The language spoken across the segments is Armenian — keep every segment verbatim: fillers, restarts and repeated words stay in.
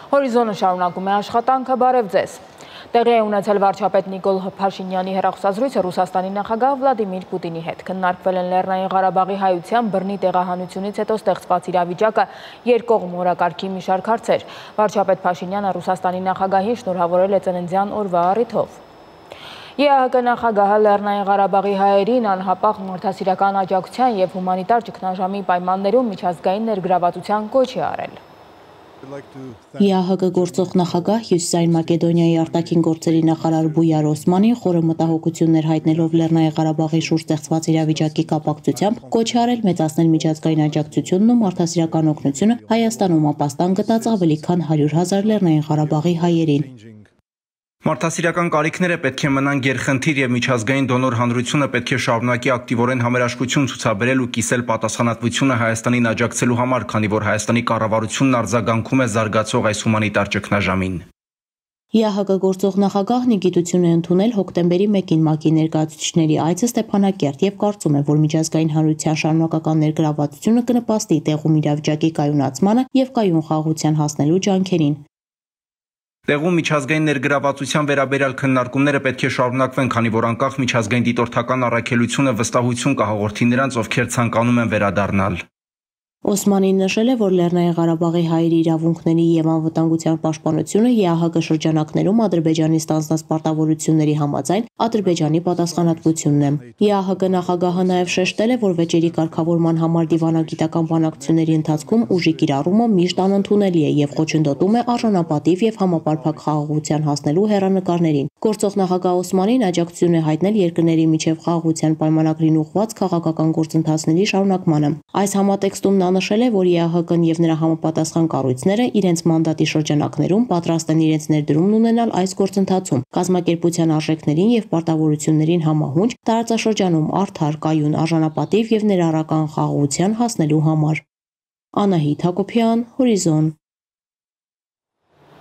Հորիզոնը շարունակում է աշխատանքը, բարև ձեզ։ Տեղի է ունեցել վարչապետ Նիկոլ Փաշինյանի հեռախոսազրույցը Ռուսաստանի նախագահ Վլադիմիր Պուտինի հետ։ Քննարկվել են Լեռնային Ղարաբաղի հայության բռնի տեղահանությունից հետո ստեղծված իրավիճակը, երկկողմ օրակարգի մի շարք հարցեր։ Վարչապետ Փաշինյանը Ռուսաստանի նախագահին շնորհավորել է ծննդյան օրվա առիթով։ ԵԱՀԿ նախագահը Լեռնային Ղարաբաղի հայերին անհապաղ մարդասիրական աջակցության և հումանիտար ճգնաժամի պայմաններում միջազգային ներգրավվածության կոչ է արել։ ԵԱՀԿ գործող նախագահ Հյուսիսային Մակեդոնիայի արտաքին գործերի նախարար Բույար Օսմանին խորը մտահոգություններ հայտնելով Լեռնային Ղարաբաղի շուրջ ստեղծված իրավիճակի կապակցությամբ կոչ է արել մեծացնել միջազգային աջակցությունն ու մարդասիրական օգնությունը Հայաստանում ապաստան գտած ավելի քան հարյուր հազար Լեռնային Ղարաբաղի հայերին։ Մարդասիրական կարիքները պետք է մնան գերխնդիր և միջազգային դոնոր հանրությունը պետք է շարունակի ակտիվորեն համերաշխություն ցուցաբերել ու կիսել պատասխանատվությունը Հայաստանին աջակցելու համար, քանի որ Հայաստանի կառավարությունն արձագանքում է զարգացող այս հումանիտար ճգնաժամին։ ԵԱՀԿ գործող նախագահն ի գիտություն է ընդունել հոկտեմբերի մեկին ՄԱԿ-ի ներկայացուցիչների այցը Ստեփանակերտ և կարծում է, որ միջազգային հանրության շարունակական ներգրավվածությունը կնպաստի տեղում իրավիճակի կայունացմանը և կայուն խաղաղության հասնելու ջանքերին։ Տեղում միջազգային ներգրավվածության վերաբերյալ քննարկումները պետք է շարունակվեն, քանի որ անկախ միջազգային դիտորդական առաքելությունը վստահություն կհաղորդի նրանց, ովքեր ցանկանում են վերադառնալ։ Օսմանին նշել է, որ Լեռնային Ղարաբաղի հայերի իրավունքների և անվտանգության պաշտպանությունը ԵԱՀԿ շրջանակներում Ադրբեջանի ստանձնած պարտավորությունների համաձայն Ադրբեջանի պատասխանատվությունն է։ ԵԱՀԿ նախագահը նաև շեշտել է, որ վեճերի կարգավորման համար դիվանագիտական բանակցությունների ընթացքում ուժի կիրառումը միշտ անընդունելի է և խոչընդոտում է արժանապատիվ և համապարփակ խաղաղության հասնելու հեռանկարներին։ Գործող նախագահ Օսմանին աջակցություն է հայտնել երկրների միջև խաղաղության պայմանագրին ուղղված քաղաքական գործընթացների շարունակմանը։ Այս համատեքստում նա նշել է, որ ԵԱՀԿ-ն և նրա համապատասխան կառույցները իրենց մանդատի շրջանակներում պատրաստ են իրենց ներդրումն ունենալ այս գործընթացում, կազմակերպության արժեքներին և պարտավորություններին համահունչ տարածաշրջանում արդար, կայուն, արժանապատիվ և ներառական խաղաղության հասնելու համար։ Անահիտ Հակոբյան, Հորիզոն։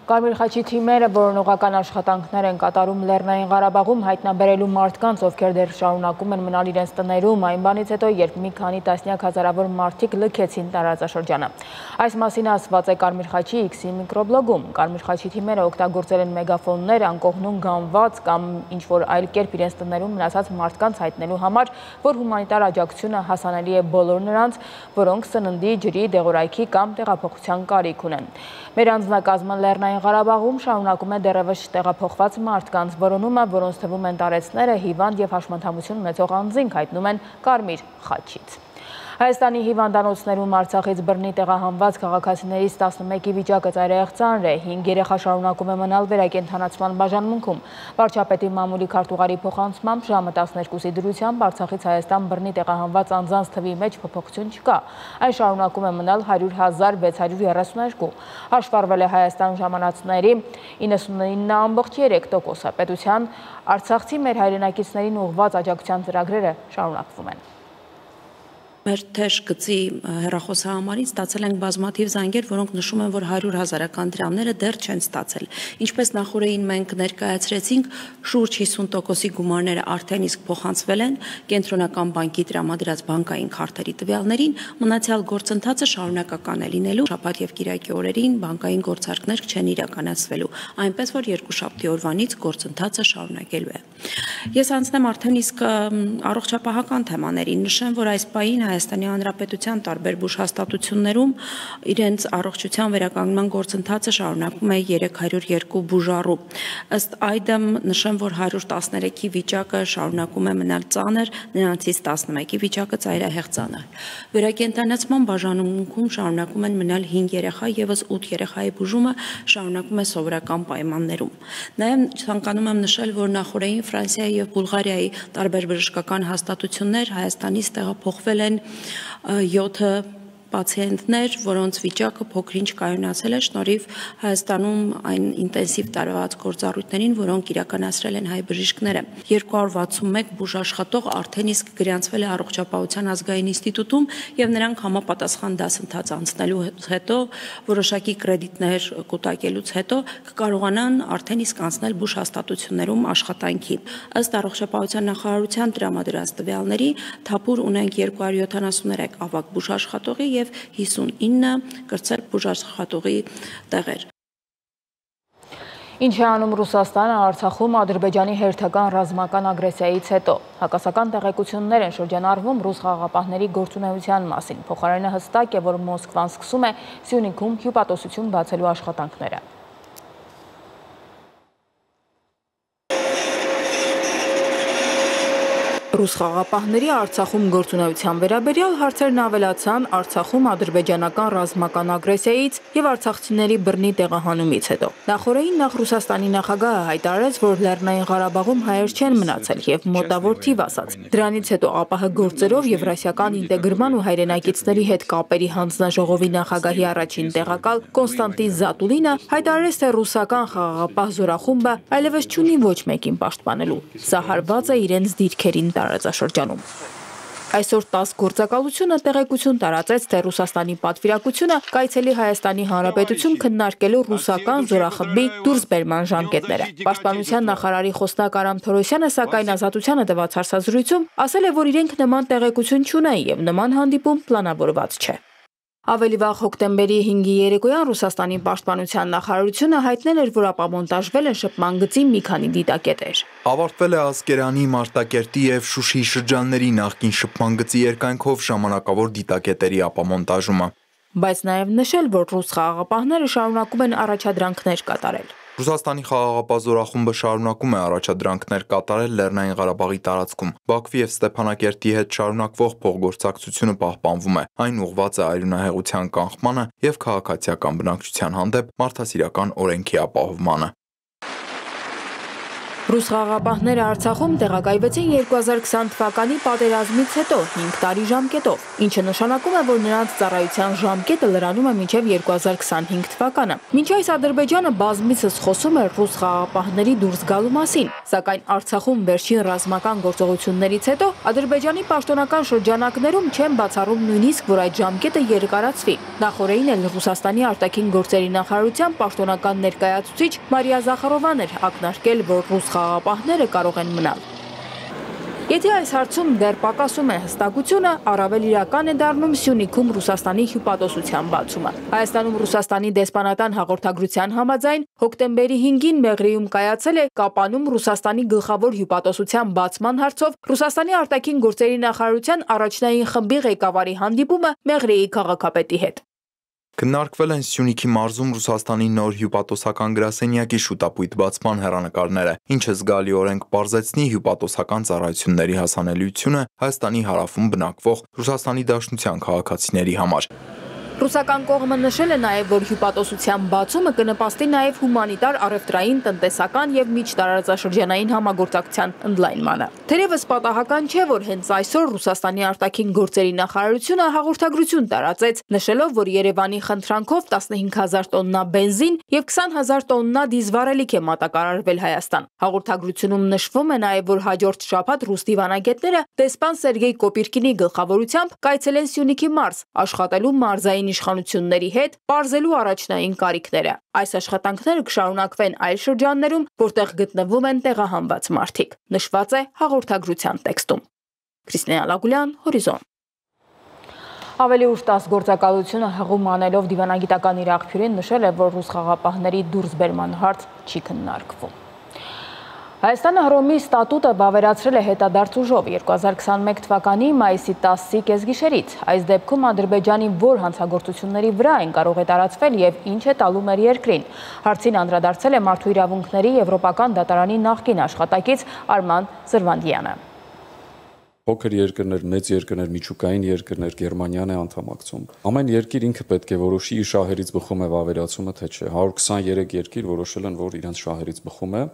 Կարմիր խաչի թիմերը որոնողական աշխատանքներ են կատարում Լեռնային Ղարաբաղում հայտնաբերելու մարդկանց, ովքեր դեռ շարունակում են մնալ իրենց տներում, այն բանից հետո, երբ մի քանի տասնյակ հազարավոր մարդիկ լքեցին տարածաշրջանը։ Այս մասին ասված է Կարմիր խաչի X-ի միկրոբլոգում։ Կարմիր խաչի թիմերը օգտագործել են մեգաֆոններ, անկողնում գանված կամ ինչ-որ այլ կերպ իրենց տներում մնացած մարդկանց հայտնելու համար, որ հումանիտար աջակցությունը հասանելի է բոլոր նրանց, որոնք սննդի, ջրի, դեղորայքի կամ տեղափոխության կարիք ունեն։ Մեր անձնակազմը Լեռնային Ղարաբաղում շարունակում է դեռևս տեղափոխված մարդկանց որոնումը, որոնց թվում են տարեցները, հիվանդ և հաշմանդամություն ունեցող անձինք, հայտնում են Կարմիր խաչից։ Հայաստանի հիվանդանոցներում Արցախից բռնի տեղահանված քաղաքացիներից տասնմեկի վիճակը ծայրահեղ ծանր է, հինգ երեխա շարունակում է մնալ վերակենդանացման բաժանմունքում։ Վարչապետի մամուլի քարտուղարի փոխանցմամբ ժամը տասներկուսի դրությամբ Արցախից Հայաստան բռնի տեղահանված անձանց թվի մեջ փոփոխություն չկա։ Այն շարունակում է մնալ հարյուր հազար վեց հարյուր երեսուններկու։ Հաշվառվել է Հայաստան ժամանածների իննսունինը ամբողջ երեք տոկոսը։ Պետության արցախցի մեր հայրենակիցներին ուղղված աջակցության ծրագրերը շարունակվում են։ Մեր թեժ գծի հեռախոսահամարից ստացել ենք բազմաթիվ զանգեր, որոնք նշում են, որ հարյուր հազարական դրամները դեռ չեն ստացել։ Ինչպես նախորդին մենք ներկայացրեցինք, շուրջ հիսուն տոկոսի գումարները արդեն իսկ փոխանցվել են Կենտրոնական բանկի տրամադրած բանկային քարտերի տվյալներին, մնացյալ գործընթացը շարունակական է լինելու, շաբաթ և կիրակի օրերին բանկային գործարքներ չեն իրականացվելու, այնպես որ երկուշաբթի օրվանից գործընթացը շարունակելու է։ Ես անցնեմ արդեն իսկ առողջապահական թեմաներին, նշեմ, որ այս պահին Հայաստանի Հանրապետության տարբեր բուժհաստատություններում իրենց առողջության վերականգնման գործընթացը շարունակում է երեք հարյուր երկու բուժառու։ Ըստ այդմ նշեմ, որ հարյուր տասներեքի վիճակը շարունակում է մնալ ծանր, նրանցից տասնմեկի վիճակը ծայրահեղ ծանր։ Վերակենդանացման բաժանմունքում շարունակում են մնալ հինգ երեխա, ևս ութ երեխայի բուժումը շարունակում է սովորական պայմաններում։ Նաև ցանկանում եմ նշել, որ նախորդին Ֆրանսիայի և Բուլղարիայի տարբեր բժշկական հաստատություններ Հայաստանից տեղափոխվել են յոթ պացիենտներ, որոնց վիճակը փոքր-ինչ կայունացել է շնորհիվ Հայաստանում այն ինտենսիվ տարված գործառույթներին, որոնք իրականացրել են հայ բժիշկները։ երկու հարյուր վաթսունմեկ բուժաշխատող արդեն իսկ գրանցվել է Առողջապահության ազգային ինստիտուտում և նրանք համապատասխան դասընթաց անցնելու հետո, որոշակի կրեդիտներ կուտակելուց հետո կկարողանան արդեն իսկ անցնել բուժհաստատություններում աշխատանքի։ Ըստ Առողջապահության նախարարության տրամադրած տվյալների, Թափուր ունենք երկու հարյուր յոթանասուններեք ավագ բուժաշխատողի և հիսունինը կրտսեր բուժաշխատողի տեղեր։ Ինչ է անում Ռուսաստանը Արցախում Ադրբեջանի հերթական ռազմական ագրեսիայից հետո։ Հակասական տեղեկություններ են շրջանառվում ռուս խաղաղապահների գործունեության մասին։ Փոխարենը հստակ է, որ Մոսկվան սկսում է Սյունիքում հյուպատոսություն բացելու աշխատանքները։ Ռուս խաղաղապահների Արցախում գործունեության վերաբերյալ հարցերն ավելացան Արցախում ադրբեջանական ռազմական ագրեսիայից եւ արցախցիների բռնի տեղահանումից հետո։ Նախորդին նախ Ռուսաստանի նախագահը հայտարարեց, որ Լեռնային Ղարաբաղում հայեր չեն մնացել եւ մոտավոր թիվ ասաց։ Դրանից հետո ԱՊՀ գործերով Եվրասիական ինտեգրման ու հայրենակիցների հետ կապերի հանձնաժողովի նախագահի առաջին տեղակալ Կոնստանտին Զատուլինը հայտարարեց, թե ռուսական խաղաղապահ զորախումբը այլևս չունի ոչ մեկին պաշտպանելու։ Սա հարված է իրենց դիրքերին տարածաշրջանում։ Այսօր տաս գործակալությունը տեղեկություն տարածեց, թե Ռուսաստանի պատվիրակությունը կայցելի Հայաստանի Հանրապետություն քննարկելու ռուսական զորախմբի դուրսբերման ժամկետները։ Պաշտպանության նախարարի խոսնակ Արամ Թորոսյանը սակայն Ազատությանը տված հարցազրույցում ասել է, որ իրենք նման տեղեկություն չունեն եւ նման հանդիպում պլանավորված չէ։ Ավելի վաղ հոկտեմբերի հինգի երեկոյան Ռուսաստանի պաշտպանության նախարարությունը հայտնել էր, որ ապամոնտաժվել են շփման գծի մի քանի դիտակետեր։ Ավարտվել է Ասկերանի, Մարտակերտի եւ Շուշիի շրջանների նախկին շփման գծի երկայնքով ժամանակավոր դիտակետերի ապամոնտաժումը։ Բայց նաեւ նշել, որ ռուս խաղաղապահները շարունակում են առաջադրանքներ կատարել։ Ռուսաստանի խաղաղապահ զորախումբը շարունակում է առաջադրանքներ կատարել Լեռնային Ղարաբաղի տարածքում։ Բաքվի եւ Ստեփանակերտի հետ շարունակվող փոխգործակցությունը պահպանվում է։ Այն ուղղված է արյունահեղության կանխմանը եւ քաղաքացիական բնակչության հանդեպ մարդասիրական օրենքի ապահովմանը։ Ռուս խաղաղապահները Արցախում տեղակայվեցին երկու հազար քսան թվականի պատերազմից հետո հինգ տարի ժամկետով, ինչը նշանակում է, որ նրանց ծառայության ժամկետը լրանում է մինչև երկու հազար քսանհինգ թվականը։ Մինչ այս Ադրբեջանը բազմիցս խոսում է ռուս խաղաղապահների դուրս գալու մասին, սակայն Արցախում վերջին ռազմական գործողություններից հետո Ադրբեջանի պաշտոնական շրջանակներում չեն բացառում նույնիսկ, որ այդ ժամկետը երկարացվի։ Նախորդին էլ Ռուսաստանի արտաքին գործերի նախարարության պաշտոնական ներկայացուցիչ Մարիա Զախարովան էր ակնարկել, որ ռուս խաղաղապահները կարող են մնալ։ Եթե այս հարցում դեռ պակասում է հստակությունը, առավել իրական է դառնում Սյունիքում Ռուսաստանի հյուպատոսության բացումը։ Հայաստանում Ռուսաստանի դեսպանատան հաղորդագրության համաձայն հոկտեմբերի հինգին Մեղրիում կայացել է Կապանում Ռուսաստանի գլխավոր հյուպատոսության բացման հարցով Ռուսաստանի արտաքին գործերի նախարարության առաջնային խմբի ղեկավարի հանդիպումը Մեղրիի քաղաքապետի հետ։ Քննարկվել են Սյունիքի մարզում Ռուսաստանի նոր հյուպատոսական գրասենյակի շուտապույտ բացման հեռանկարները, ինչը զգալիորեն կպարզեցնի հյուպատոսական ծառայությունների հասանելիությունը Հայաստանի հարավում բնակվող Ռուսաստանի Դաշնության քաղաքացիների համար։ Ռուսական կողմը նշել է նաև, որ հյուպատոսության բացումը կնպաստի նաև հումանիտար, առևտրային, տնտեսական եւ միջտարածաշրջանային համագործակցության ընդլայնմանը։ Թերևս պատահական չէ, որ հենց այսօր Ռուսաստանի արտաքին գործերի նախարարությունը հաղորդագրություն տարածեց, նշելով, որ Երևանի խնդրանքով տասնհինգ հազար տոննա բենզին եւ քսան հազար տոննա դիզվառելիք է մատակարարվել Հայաստան։ Հաղորդագրությունում նշվում է նաև, որ հաջորդ շաբաթ ռուս դիվանագետները դեսպան Սերգեյ Կոպիրկինի գլխավորությամբ կայցելեն Սյունիքի մարզ, աշխատելու մարզային իշխանությունների հետ պարզելու առաջնային կարիքները։ Այս աշխատանքները կշարունակվեն այլ շրջաններում, որտեղ գտնվում են տեղահանված մարդիկ, նշված է հաղորդագրության տեքստում։ Քրիստինե Ալագուլյան, Հորիզոն։ Ավելի ուշ տաս գործակալությունը հղում անելով դիվանագիտական իր աղբյուրին նշել է, որ ռուս խաղաղապահների դուրսբերման հարց չի քննարկվում։ Հայաստանը Հռոմի ստատուտը վավերացրել է հետադարձ ուժով երկու հազար քսանմեկ թվականի մայիսի տասի կեսգիշերից։ Այս դեպքում Ադրբեջանի որ հանցագործությունների վրա են կարող է տարածվել եւ ինչ է տալու մեր երկրին։ Հարցին անդրադարձել է Մարդու իրավունքների Եվրոպական դատարանի նախկին աշխատակից Արման Զրվանդյանը։ Փոքր երկրներ, մեծ երկրներ, միջուկային երկրներ, Գերմանիան է անդամակցում։ Ամեն երկիր ինքը պետք է որոշի իր շահերից բխում է վավերացումը, թե չէ։ հարյուր քսաներեք երկիր որոշել են, որ իրենց շահերից բխում է։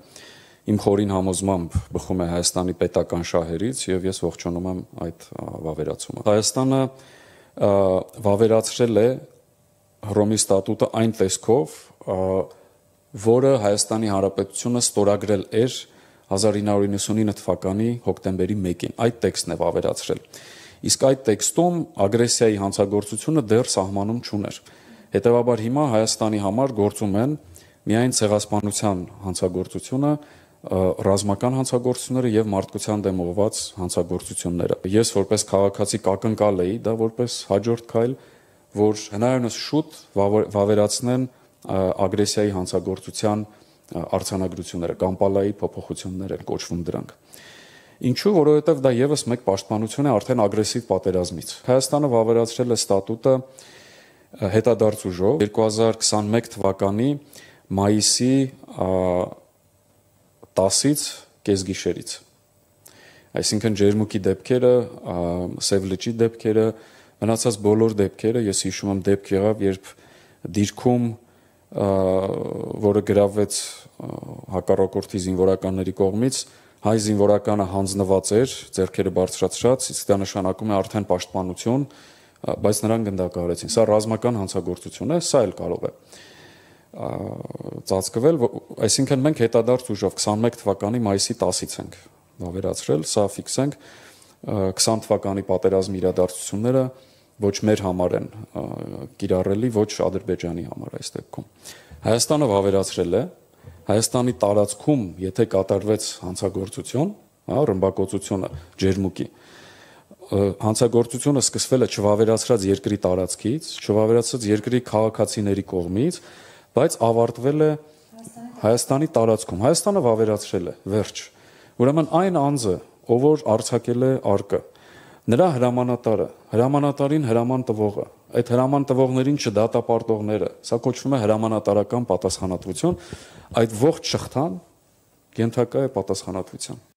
Իմ խորին համոզմամբ բխում է Հայաստանի պետական շահերից եւ ես ողջունում եմ այդ վավերացումը։ Հայաստանը վավերացրել է Հռոմի ստատուտը այն տեսքով, որը Հայաստանի Հանրապետությունը ստորագրել էր հազար ինը հարյուր նվաթ թվականի հոկտեմբերի մեկին։ Այդ տեքստն է վավերացրել։ Իսկ այդ տեքստում ագրեսիայի հանցագործությունը դեռ սահմանում չուներ։ Հետևաբար հիմա Հայաստանի համար գործում են միայն ցեղասպանության հանցագործությունը, ռազմական հանցագործությունները եւ մարդկության դեմ ուղղված հանցագործությունները։ Ես որպես քաղաքացի կակնկալ էի դա որպես հաջորդ քայլ, որ հնարավորինս շուտ վավերացնեն ագրեսիայի հանցագործության արձանագրությունները, Կամպալայի փոփոխություններ են կոչվում դրանք։ Ինչու, որովհետև դա եւս մեկ պաշտպանություն է արդեն ագրեսիվ պատերազմից։ Հայաստանը վավերացրել է ստատուտը հետադարձ ուժով երկու հազար քսանմեկ թվականի մայիսի տասից կեսգիշերից։ Այսինքն ջերմուկի դեպքերը, Սև լճի դեպքերը, մնացած բոլոր դեպքերը, ես հիշում եմ դեպք եղավ, երբ դիրքում, որը գրավվեց հակառակորդի զինվորականների կողմից, հայ զինվորականը հանձնված էր, ձեռքերը բարձրացրած, իսկ դա նշանակում է արդեն պաշտպանություն, բայց նրանք գնդակահարեցին։ Սա ռազմական հանցագործություն է, սա էլ կարող է ծածկվել, այսինքն մենք հետադարձ ուժով քսանմեկ թվականի մայիսի տասից ենք վավերացրել, սա ֆիքսենք քսան թվականի պատերազմի իրադարձությունները ոչ մեր համար են կիրառելի, ոչ Ադրբեջանի համար այս դեպքում։ Հայաստանը վավերացրել է, Հայաստանի տարածքում, եթե կատարվեց հանցագործություն, ռմբակոծությունը ջերմուկի, հանցագործությունը սկսվել է չվավերացրած երկրի տարածքից, չվավերացրած երկրի քաղաքացիների կողմից, բայց ավարտվել է Հայաստանի տարածքում։ Հայաստանը վավերացրել է, վերջ։ Ուրեմն այն անձը, ով որ արձակել է արկը, նրա հրամանատարը, հրամանատարին հրաման տվողը, այդ հրաման տվողներին չդատապարտողները, սա կոչվում է հրամանատարական պատասխանատվություն, այդ ողջ շղթան ենթակա է պատասխանատվության։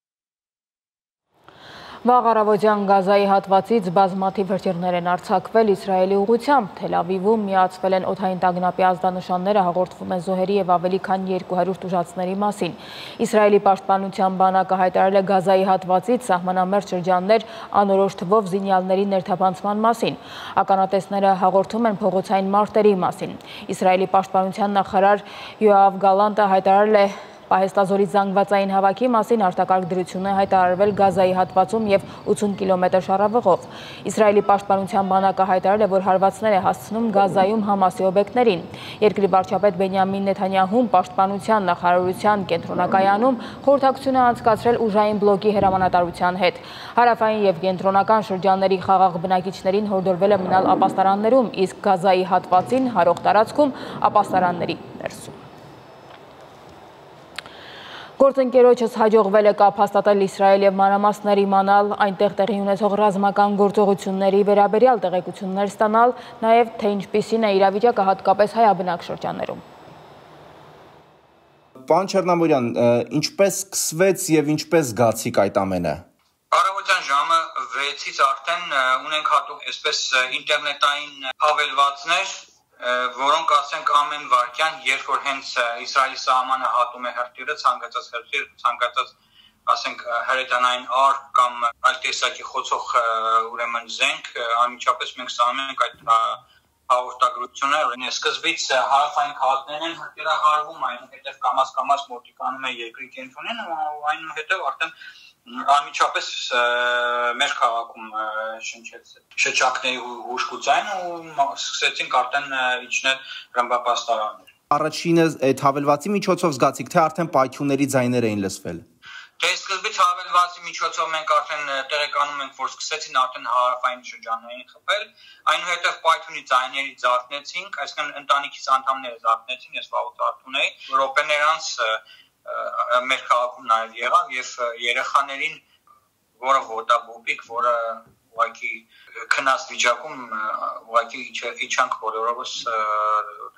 Վաղ առավոտյան Գազայի հատվածից բազմաթիվ հրթիռներ են արձակվել Իսրայելի ուղղությամբ։ Թել Ավիվում միացվել են օդային տագնապի ազդանշանները, հաղորդվում են զոհերի եւ ավելի քան երկու հարյուր տուժածների մասին։ Իսրայելի պաշտպանության բանակը հայտարարել է Գազայի հատվածից սահմանամերձ շրջաններ անորոշ թվով զինյալների ներթափանցման մասին։ Ականատեսները հաղորդում են փողոցային մարտերի մասին։ Իսրայելի պաշտպանության նախարար Յոավ Գալանտը հայտարարել է Պահեստազորի զանգվածային հավաքի մասին արտակարգ դրություն է հայտարարվել Գազայի հատվածում և ութուն կիլոմետր շառավղով։ Իսրայելի պաշտպանության բանակը հայտարարել է, որ հարվածներ է հասցնում Գազայում Համասի օբյեկտներին։ Երկրի վարչապետ Բենյամին Նեթանյահուն պաշտպանության նախարարության կենտրոնակայանում խորհրդակցություն է անցկացրել ուժային բլոկի հրամանատարության հետ։ Հարավային և կենտրոնական շրջանների խաղաղ բնակիչներին հորդորվել է մնալ ապաստարաններում, իսկ Գազայի հատվածին հարող տարածքում ապաստարանների ներսում։ Գործընկերոջս հաջողվել է կապ հաստատել Իսրայել և մանրամասներ իմանալ, այնտեղ տեղի ունեցող ռազմական գործողությունների վերաբերյալ տեղեկություններ ստանալ, նաև թե ինչպիսին է իրավիճակը հատկապես հայաբնակ շրջաններում։ Պարոն Չեռնամորյան, ինչպես սկսվեց եւ ինչպես զգացիք այդ ամենը։ Առավոտյան ժամը վեցից արդեն ունենք հատուկ այսպես ինտերնետային հավելվածներ, որոնք ասենք ամեն վարքյան, երբ որ հենց Իսրայելի սահմանը հատում է հրթիռը, ցանկացած հրթիռ, ցանկացած ասենք հրետանային արկ կամ այլ տեսակի խոցող ուրեմն զենք, անմիջապես մենք ստանում ենք այդ հաղորդագրությունը։ Սկզբից հարավային քաղաքներն են հրթիռահարվում, այնուհետև կամաց-կամաց մոտիկանում է երկրի կենտրոնին, այնուհետև արդեն անմիջապես մեր քաղաքում շնչեց շչակների հուշկուծային ու սկսեցինք արդեն իջնել ռմբապաստարաններ։ Առաջինը այդ հավելվածի միջոցով զգացիք, թե արդեն պայթյունների ձայներ էին լսվել։ Դե սկզբից հավելվածի միջոցով մենք արդեն տեղեկանում ենք, որ սկսեցին արդեն հարավային շրջաններին խփել, այնուհետև պայթյունի ձայների զարթնեցինք, այսինքն ընտանիքից անդամները զարթնեցին, ես վաղուց արթուն էի, րոպեներ անց մեր քաղաքում նաև եղավ եւ երեխաներին, որը ոտաբոբիկ, որը ուղղակի քնած վիճակում ուղղակի իջանք բոլորովս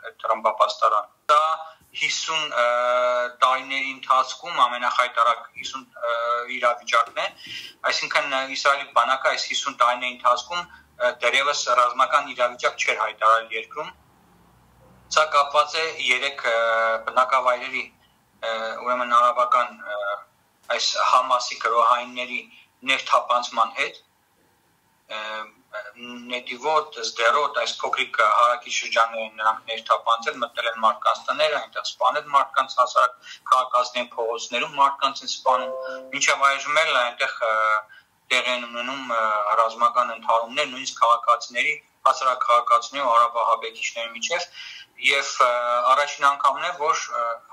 այդ ռմբապաստարան։ Դա հիսուն տարիների ընթացքում ամենախայտարակ հիսուն իրավիճակն է, այսինքն Իսրայելի բանակը այս հիսուն տարիների ընթացքում դեռևս ռազմական իրավիճակ չէր հայտարարել երկրում։ Սա կապված է երեք բնակավայրերի ուրեմն արաբական այս Համասի գրոհայինների ներթափանցման հետ, Նետիվոտ, Սդերոտ, այս փոքրիկ հարակի շրջաններին նրանք ներթափանցել, մտնել են մարդկանց տները, այնտեղ սպանել մարդկանց, հասարակ քաղաքացիների փողոցներում մարդկանց են սպանում, մինչև այժմ էլ այնտեղ տեղի են ունենում ռազմական ընդհարումներ, նույնիսկ քաղաքացիների, հասարակ քաղաքացիների ու արաբահաբեկիչների միջև, եւ առաջին անգամն է, որ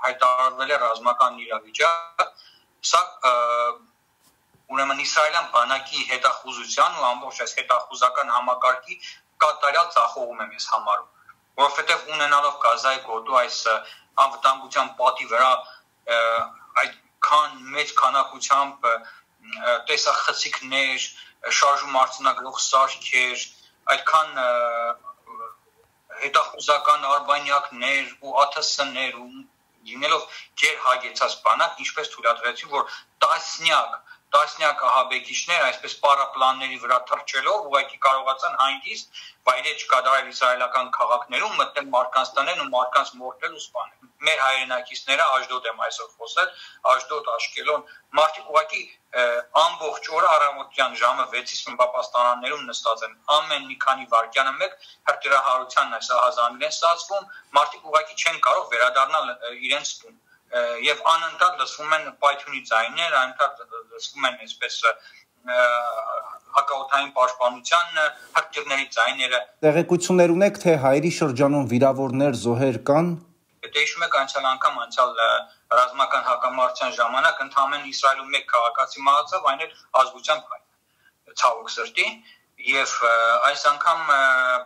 հայտարարվել է ռազմական իրավիճակ, սա ուրեմն իսրայելյան բանակի հետախուզության ու ամբողջ այս հետախուզական համակարգի կատարյալ ձախողում եմ ես համարում, որովհետև ունենալով Գազայի գոտու այս անվտանգության պատի վրա այդքան մեծ քանակությամբ տեսախցիկներ, շարժում արձանագրող սարքեր, այդքան հետախուզական արբանյակներ ու ա թ ս-ներ ու լինելով գերհագեցած բանակ, ինչպես թույլատրեցին, որ տասնյակ տասնյակ ահաբեկիչներ այսպես պարապլանների վրա թռչելով ուղղակի կարողացան հանգիստ վայրեջ կատարել իսրայելական քաղաքներում մտնել մարդկանց տներն ու մարդկանց մորթել ու սպանել։ Մեր հայրենակիցները Աշդոդ եմ այսօր խոսել, Աշդոդ, Աշկելոն, մարդիկ ուղղակի ամբողջ օրը առավոտյան ժամը վեցից պապաստանաններում նստած են, ամեն մի քանի վայրկյանը մեկ հրթիռահարությանն այս ահազանգն են ստացվում, մարդիկ ուղղակի չեն կարող վերադառնալ իրենց տուն եւ անընդհատ լսվում են պայթյունի ձայներ, անընդհատ լսվում են այսպես հակաօդային պաշտպանության հրթիռների ձայները։ Տեղեկություններ ունեք, թե Հայերի շրջանում վիրավորներ, զոհեր կան։ Եթե հիշում եք անցյալ անգամ անցյալ ռազմական հակամարտության ժամանակ ընդհանրեն Իսրայելում մեկ քաղաքացի մահացավ, այն էլ ազգությամբ հայ, ցավոք սրտի, եւ այս անգամ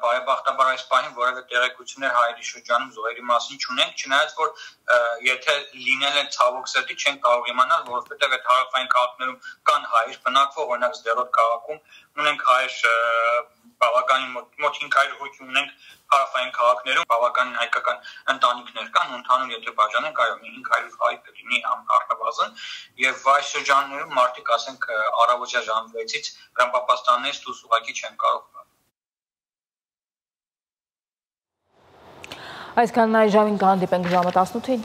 բարեբախտաբար այս պահին որևէ տեղեկություններ Հայերի շրջանում զոհերի մասին չունենք, չնայած որ եթե լինել են ցավոք սրտի չեն կարող իմանալ, որովհետեւ այդ հարավային քաղաքներում կան հայեր բնակվող, օրինակ Սդերոտ քաղաքում ունենք հայեր բավականին մոտ հինգ հարյուր հոգի ունենք հարավային քաղաքներում, բավականին հայկական ընտանիքներ կան, ընդհանուր եթե բաժանենք, այո, մի հինգ հարյուր հայ կլինի առնվազն, եւ այս շրջաններում մարդիկ, ասենք, առավոտյա ժամը վեցից հրապապաստաններից դուրս ուղղակի չեն կարող գալ։ Այսքանն այս ժամին կհանդիպենք ժամը տասնութին։